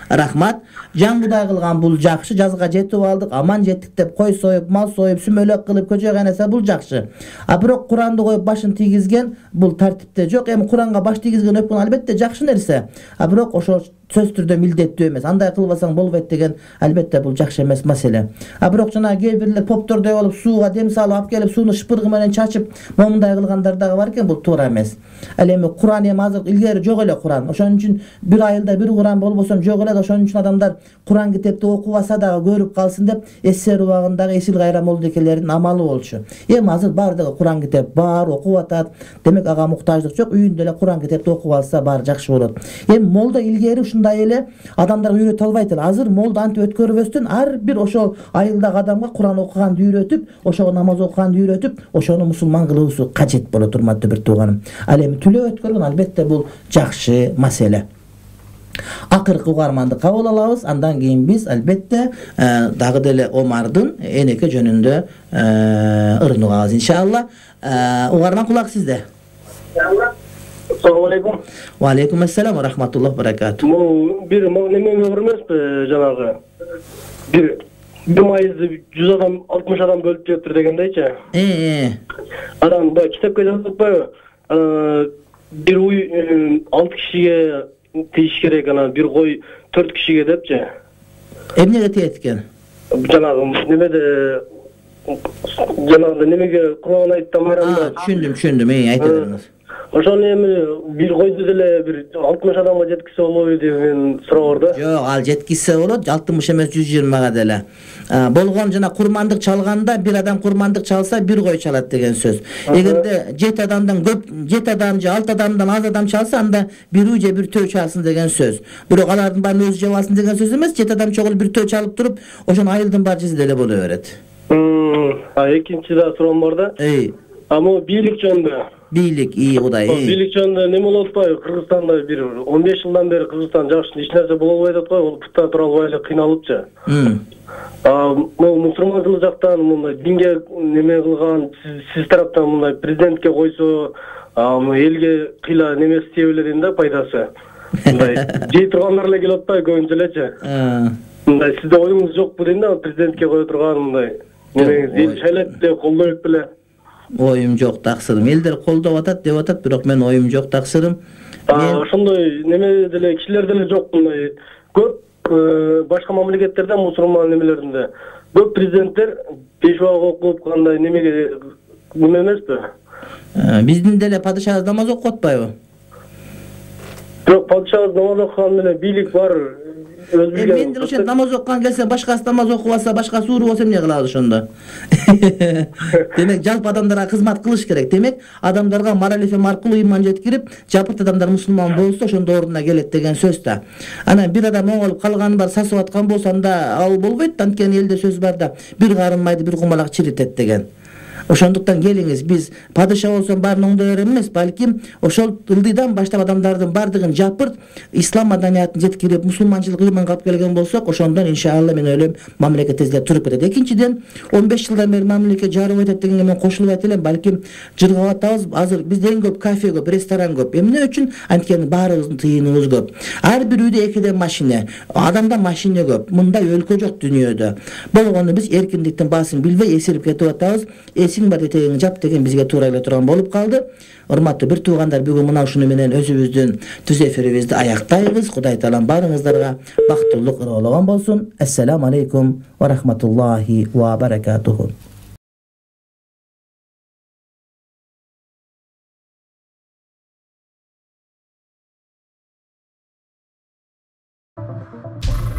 Рахмат. Жан Кудай кылган бул жакшы, жазга жетип алдык, аман жеттик деп кой союп, мал союп, сүмөлөк кылып көчөгө кайнаса бул жакшы. А бирок Куранды коюп башын тийгизген бул тартипте жок. Эми Куранга баш тийгизген өпкөн албетте жакшы нерсе. А бирок ошол сөз түрдө милдеттүү эмес. Андай кылбасаң болбойт деген албетте бул жакшы эмес маселе. А бирок жана кээ бирлер поптордой болуп сууга дем салып алып келип сууну шыпыргы менен чачып момундай кылгандар дагы бар экен, бул туура эмес. Ал эми Куран эми азыр илгери жок эле Куран. Ошон үчүн бир айылда бир Куран болбосо жок эле. Ошон үчүн адамдар Куран китепти окубаса дагы көрүп калсын деп эсер убагындагы Эсил Кайра молдекелердин амалы болчу. Эми азыр баардыгы Куран китеп бар, окуп атат. Демек ага муктаждык жок. Үйүндө эле Куран китепти окуп алса баары жакшы болот. Эми молда илгери ушундай эле адамдарга үйрөтө албайт эле. Азыр молда антип өткөрбөстөн ар бир ошол айылдагы адамга Куран окуганды үйрөтүп, ошого намаз окуганды үйрөтүп, ошону мусулман кылуусу кажет болот, урматтуу бир тууганым. Ал эми түлөө өткөргөн албетте бул жакшы маселе. Акыркы угарманды кабыл алабыз. Андан кийин биз албетте дагы деле Омардын энеке жөнүндө ырын угабыз иншалла. Угарман кулак сизде. Assalamu alaikum. Wa alaikum assalam wa rahmatullah barakatuh. Бул бир неме бар эмеспи, жанагы бир бир майызды жүз адам, алтымыш адам бөлүп жептир дегендейчи. Э. Анан баягы китепке жазып атпайбы? Бир уй алты кишиге тийиш керек, анан бир кой төрт кишиге депчи. Эмнеге тиет экен? Жанагы немеде жанагы немеге Курман айтты майрамда. Түшүндүм, түшүндүм. Э, айта бериңиз. Ошону эми бир койду деле бир алтымыш адамга жеткизсе болобу деген суроо бар да. Жок, ал жеткизсе болот, алтымыш эмес жүз жыйырмага деле. Болгон жана курмандык чалганда бир адам курмандык чалса бир кой чалат деген сөз. Эгерде жети адамдан көп, жети адам же алты адамдан аз адам чалса, анда бир уй же бир төө чалсын деген сөз. Бирок алардын баарын өзү жеп алсын деген сөз эмес. Жети адам чогулуп бир төө чалып туруп, ошону айылдын баары жесе деле боло берет. А экинчи да суроом бар да. Эй. А могу бийлик жөнүндө. Бийлик, ии Кудай. Бийлик жөнүндө неме болуп атпайбы? Кыргызстанда бир он беш жылдан бери Кыргызстан жакшы эч нерсе боло албай атат го, ол путта тура албай эле кыйналыпчы. А могу мусулманчылык жактан мындай динге неме кылган, сиз тараптан мындай президентке койсо, элге кыйла немеси тие берет да, пайдасы. Мындай жей тургандар эле келип атпайбы көбүнчө элечи. Мындай сизде оюңуз жокпу дейм да, президентке кое турган мындай. Немеңиз эл шайлап деп колдоп беле. Оюм жок таксырым. Элдер колдоп атат деп атат, бирок мен оюм жок таксырым. Ошондой неме деле кишилер деле жок мындай. Көп башка мамлекеттерде, мусулман немелеринде көп президенттер пешвага окуп кандай немеге неме эмеспи? Биздин деле падышабыз намаз окуп атпайбы? Жок, падышабыз намаз окуган менен бийлик бар. Мен деле ошентип намаз окуган келсе, башкасы намаз окубаса, башкасы ууру болсо эмне кылабыз ошондо? Демек, жалпы адамдарга кызмат кылыш керек. Демек, адамдарга мораль эфем аркылуу ыйман жеткирип, жапырт адамдар мусулман болсо, ошондо ордуна келет деген сөз да. Анан бир адам оңолуп калганы бар, сасып аткан болсо, анда ал болбойт. Анткени элде сөз бар да, бир карын майды бир кумалак чиритет деген. Ошондуктан келиңиз, биз падыша болсо баарын оңдой берем эмес, балким ошол ылдыйдан баштап адамдардын бардыгын жапырт ислам маданиятын жеткирип, мусулманчылык ыйманга алып келген болсок, ошондон иншалла мен ойлойм мамлекет тезирээк туруп кетет. Экинчиден, он беш жылдан бери мамлекет жарып атат дегенге мен кошулуп айта элем, балким жыргап атабыз. Азыр бизде эң көп кафе көп, ресторан көп. Эмне үчүн? Анткени баарыбыздын тыйыныбыз көп. Ар бир үйдө экиден машина, адамда машина көп. Мындай өлкө жок дүйнөдө. Болгону биз эркиндиктин баасын билбей эсирип кетип атабыз. Бар этегиң жап деген бизге туура эле турган болуп калды. Урматтуу бир туугандар, бүгүн мына ушуну менен өзүбүздүн түз эфирибизди аяктайбыз. Кудай таалам баарыңыздарга бактылык ыргоологон болсун. Ассаламу алейкум ва рахматуллахи ва баракатуху. you